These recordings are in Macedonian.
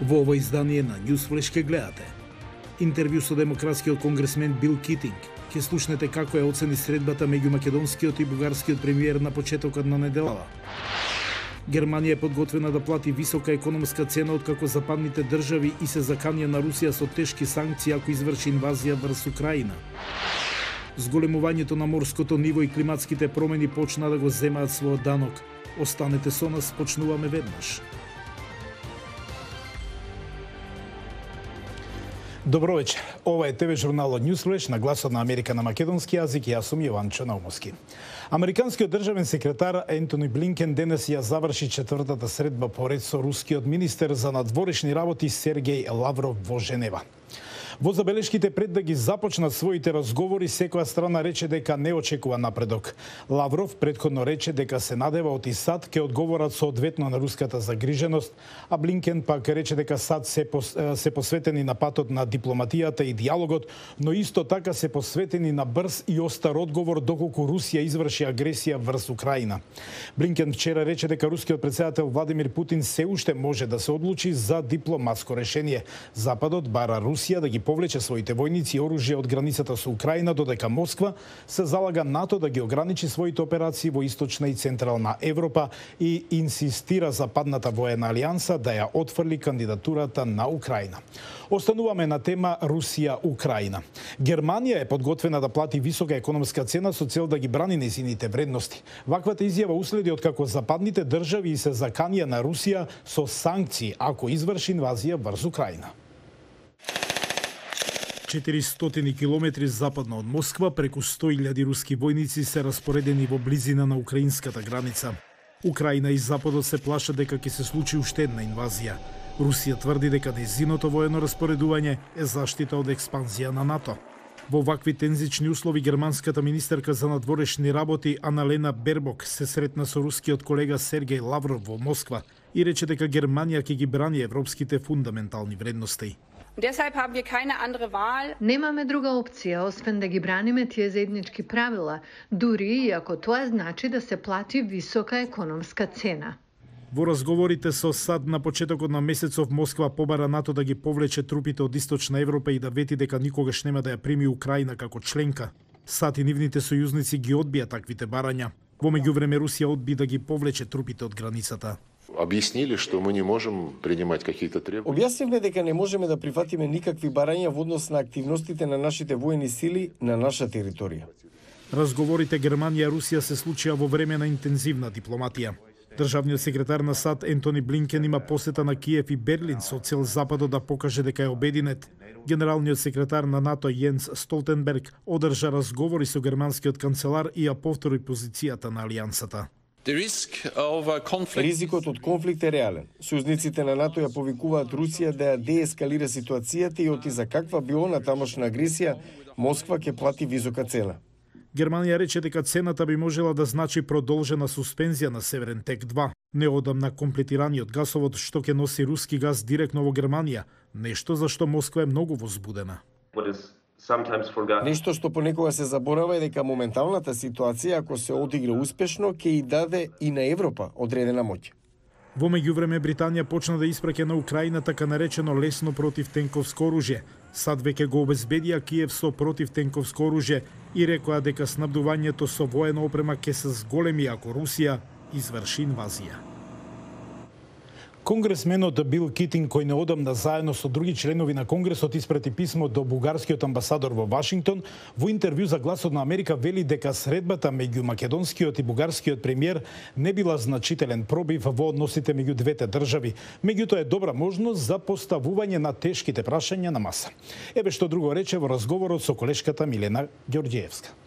Во ово издание на Newsflash ке гледате интервју со демократскиот конгресмен Бил Китинг. Ке слушнете како ја оцени средбата меѓу македонскиот и бугарскиот премиер на почетокот на неделава. Германија е подготвена да плати висока економска цена откако западните држави и се заканија на Русија со тешки санкции ако изврши инвазија врз Украина. Зголемувањето на морското ниво и климатските промени почна да го земаат својот данок. Останете со нас, почнуваме веднаш. Добро вечер. Ова е ТВ журналот Newsflash на гласот на Америка на македонски јазик и јас сум Јованчо Наумовски. Американскиот државен секретар Ентони Блинкен денес ја заврши четвртата средба поред со рускиот министер за надворешни работи Сергеј Лавров во Женева. Во забелешките пред да ги започнат своите разговори, секоја страна рече дека не очекува напредок. Лавров претходно рече дека се надева од САД ќе одговорат соодветно на руската загриженост, а Блинкен пак рече дека САД се посветени на патот на дипломатијата и диалогот, но исто така се посветени на брз и остар одговор доколку Русија изврши агресија врз Украина. Блинкен вчера рече дека рускиот претседател Владимир Путин се уште може да се одлучи за дипломатско решение. Западот бара Русија да ги повлече своите војници и оружје од границата со Украина, додека Москва се залага НАТО да ги ограничи своите операции во источна и централна Европа и инсистира западната воена алијанса да ја отфрли кандидатурата на Украина. Остануваме на тема Русија-Украина. Германија е подготвена да плати висока економска цена со цел да ги брани нејзините вредности. Ваквата изјава уследи откако западните држави се заканија на Русија со санкции ако изврши инвазија врз Украина. 400 километри западно од Москва, преку 100.000 руски војници се распоредени во близина на украинската граница. Украина и Западот се плашат дека ќе се случи уште една инвазија. Русија тврди дека нејзиното воено распоредување е заштита од експанзија на НАТО. Во вакви тензични услови германската министерка за надворешни работи Аналена Бербок се сретна со рускиот колега Сергеј Лавров во Москва и рече дека Германија ќе ги брани европските фундаментални вредности. Немаме друга опција, освен да ги браниме тие заеднички правила, дури и ако тоа значи да се плати висока економска цена. Во разговорите со САД на почетокот на месецов Москва побара НАТО да ги повлече трупите од Источна Европа и да вети дека никогаш нема да ја прими Украина како членка. САД и нивните сојузници ги одбија таквите барања. Во меѓувреме Русија одби да ги повлече трупите од границата. Објаснили што мы не можем принимать какие-то требования. Објаснивме дека не можеме да прифатиме никакви барања во однос на активностите на нашите воени сили на наша територија. Разговорите Германија и Русија се случија во време на интензивна дипломатија. Државниот секретар на САД Ентони Блинкен има посета на Киев и Берлин со цел Западот да покаже дека е обединет. Генералниот секретар на НАТО Јенс Столтенберг одржа разговори со германскиот канцелар и ја повтори позицијата на алијансата. Ризикот од конфликт е реален. Сојузниците на НАТО ја повикуваат Русија да ја деескалира ситуацијата и оти за каква би она тамошна агресија, Москва ќе плати висока цена. Германија рече дека цената би можела да значи продолжена суспензија на Северен тек 2, неодамна комплетираниот гасовод што ќе носи руски газ директно во Германија, нешто за што Москва е многу возбудена. Нешто што понекога се заборава е дека моменталната ситуација, ако се одигра успешно, ќе и даде и на Европа одредена моќ. Во меѓувреме Британија почна да испраќа на Украина така наречено лесно противтенковско оружје. САД веќе го обезбедија Киев со противтенковско оружје и рекоа дека снабдувањето со воена опрема ќе се зголеми ако Русија изврши инвазија. Конгресменот Бил Китинг, кој неодамна заедно со други членови на Конгресот испрати писмо до бугарскиот амбасадор во Вашингтон, во интервју за Гласот на Америка вели дека средбата меѓу македонскиот и бугарскиот премиер не била значителен пробив во односите меѓу двете држави, меѓутоа е добра можност за поставување на тешките прашања на маса. Еве што друго рече во разговорот со колешката Милена Ѓорѓиевска.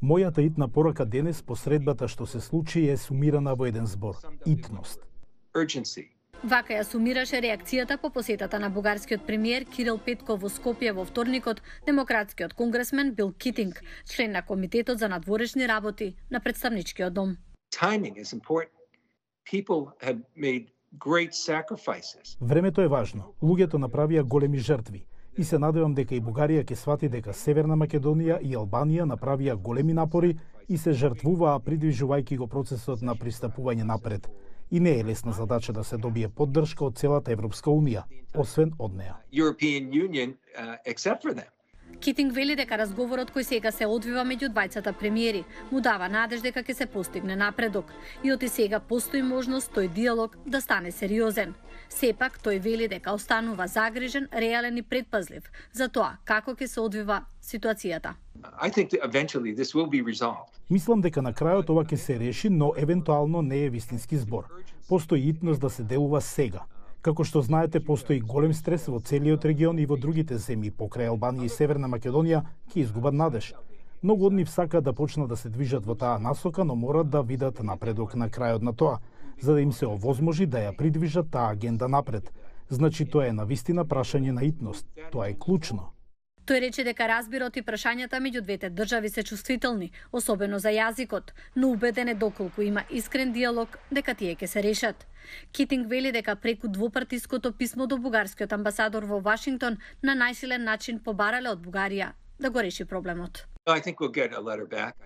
Мојата итна порака денес по средбата што се случи е сумирана во еден збор – итност. Вака ја сумираше реакцијата по посетата на бугарскиот премиер Кирил Петков во Скопје во вторникот демократскиот конгресмен Бил Китинг, член на Комитетот за надворешни работи на Претставничкиот дом. Времето е важно. Луѓето направија големи жртви. И се надевам дека и Бугарија ќе свати дека Северна Македонија и Албанија направија големи напори и се жртвуваа придвижувајќи го процесот на пристапување напред. И не е лесна задача да се добие поддршка од целата Европска Унија, освен од неа. Китинг вели дека разговорот кој сега се одвива меѓу двајцата премиери му дава надеж дека ќе се постигне напредок и оти сега постои можност тој диалог да стане сериозен. Сепак тој вели дека останува загрижен, реален и предпазлив за тоа како ќе се одвива ситуацијата. Мислам дека на крајот ова ќе се реши, но евентуално не е вистински збор. Постои итност да се делува сега. Како што знаете, постои голем стрес во целиот регион и во другите земји покрај Албанија и Северна Македонија ќе изгубат надеж. Многу од нив сакаат да почнат да се движат во таа насока, но морат да видат напредок на крајот на тоа, за да им се овозможи да ја придвижат таа агенда напред. Значи тоа е навистина прашање на итност. Тоа е клучно. Тој рече дека разбирот и прашањата меѓу двете држави се чувствителни, особено за јазикот, но убеден е доколку има искрен диалог дека тие ќе се решат. Китинг вели дека преку двопартиското писмо до бугарскиот амбасадор во Вашингтон на најсилен начин побарале од Бугарија да го реши проблемот.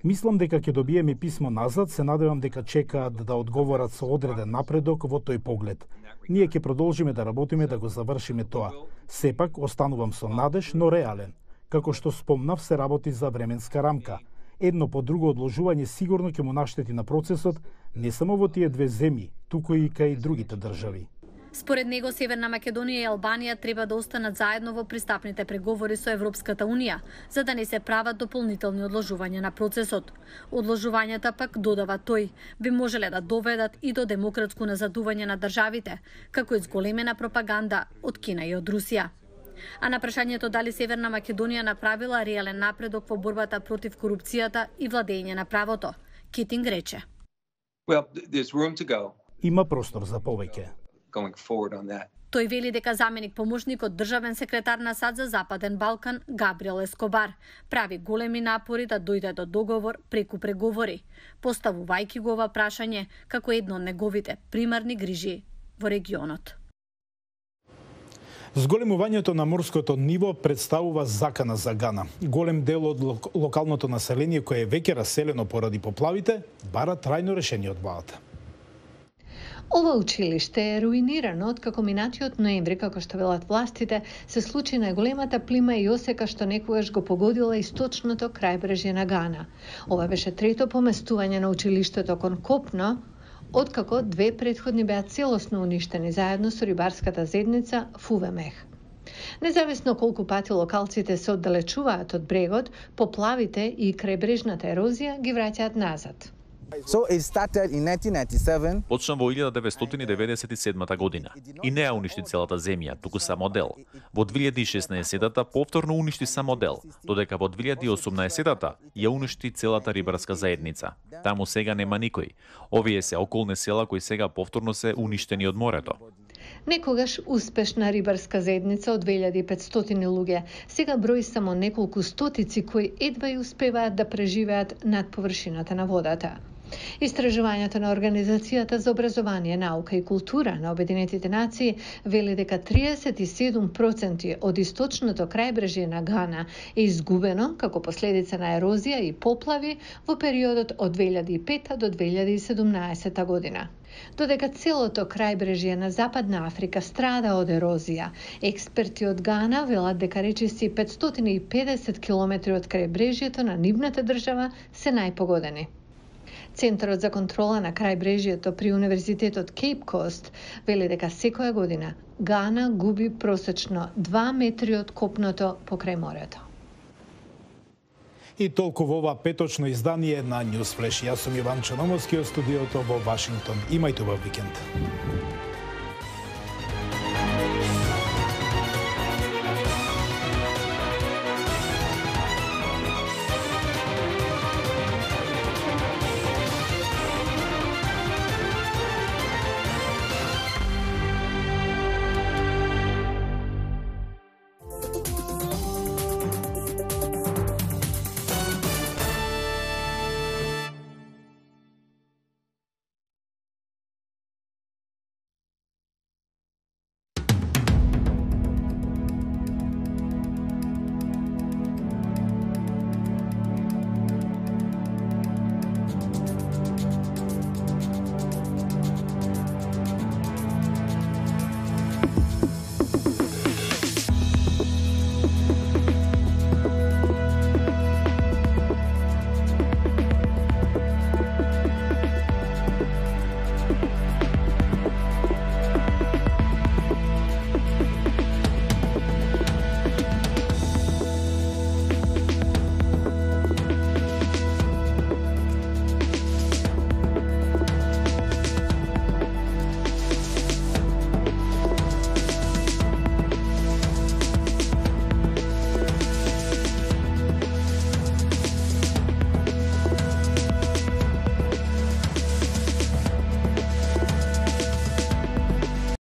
Мислам дека ќе добиеме писмо назад, се надевам дека чекаат да одговорат со одреден напредок во тој поглед. Ние ќе продолжиме да работиме да го завршиме тоа. Сепак останувам со надеж, но реален. Како што спомнав, се работи за временска рамка. Едно по друго одложување сигурно ќе му наштети на процесот, не само во тие две земји, туку и кај другите држави. Според него, Северна Македонија и Албанија треба да останат заедно во пристапните преговори со Европската Унија, за да не се прават дополнителни одложувања на процесот. Одложувањата пак, додава тој, би можеле да доведат и до демократско назадување на државите, како и зголемена пропаганда од Кина и од Русија. А на прашањето дали Северна Македонија направила реален напредок во борбата против корупцијата и владење на правото, Китинг рече: Има простор за повеќе. Тој вели дека заменик поможникот државен секретар на САД за Западен Балкан, Габриел Ескобар, прави големи напори да дојде до договор преку преговори, поставувајќи го ова прашање како едно од неговите примарни грижи во регионот. Зголемувањето на морското ниво представува закана за Гана. Голем дел од локалното население кое е веќе раселено поради поплавите, бара трајно решение од владата. Ова училиште е руинирано откако минатиот ноември, како што велат властите, се случи најголемата плима и осека што некогаш го погодила источното крајбрежје на Гана. Ова беше трето поместување на училиштето кон копно, откако две претходни беа целосно уништени заедно со рибарската заедница Фувемех. Независно колку пати локалците се оддалечуваат од брегот, поплавите и крајбрежната ерозија ги враќаат назад. Почна во 1997 година и не ја уништи целата земја, туку само дел. Во 2016-та повторно уништи само дел, додека во 2018-та ја уништи целата рибарска заедница. Таму сега нема никој. Овие се околни села кои сега повторно се уништени од морето. Некогаш успешна рибарска заедница од 2500 луѓе, сега брои само неколку стотици кои едва и успеваат да преживеат над површината на водата. Истражувањето на Организацијата за образование, наука и култура на Обединетите нации вели дека 37% од источното крајбрежје на Гана е изгубено како последица на ерозија и поплави во периодот од 2005 до 2017 година. Додека целото крајбрежје на Западна Африка страда од ерозија, експерти од Гана велат дека речиси 550 километри од крајбрежјето на нивната држава се најпогодени. Центарот за контрола на крајбрежјето при Универзитетот Кейп Кост вели дека секоја година Гана губи просечно 2 метри од копното покрај морето. И толку во ова петочно издание на Ньюс Флеш. Јас сум Иван Чономовски од студиото во Вашингтон. Имајте убав викенд.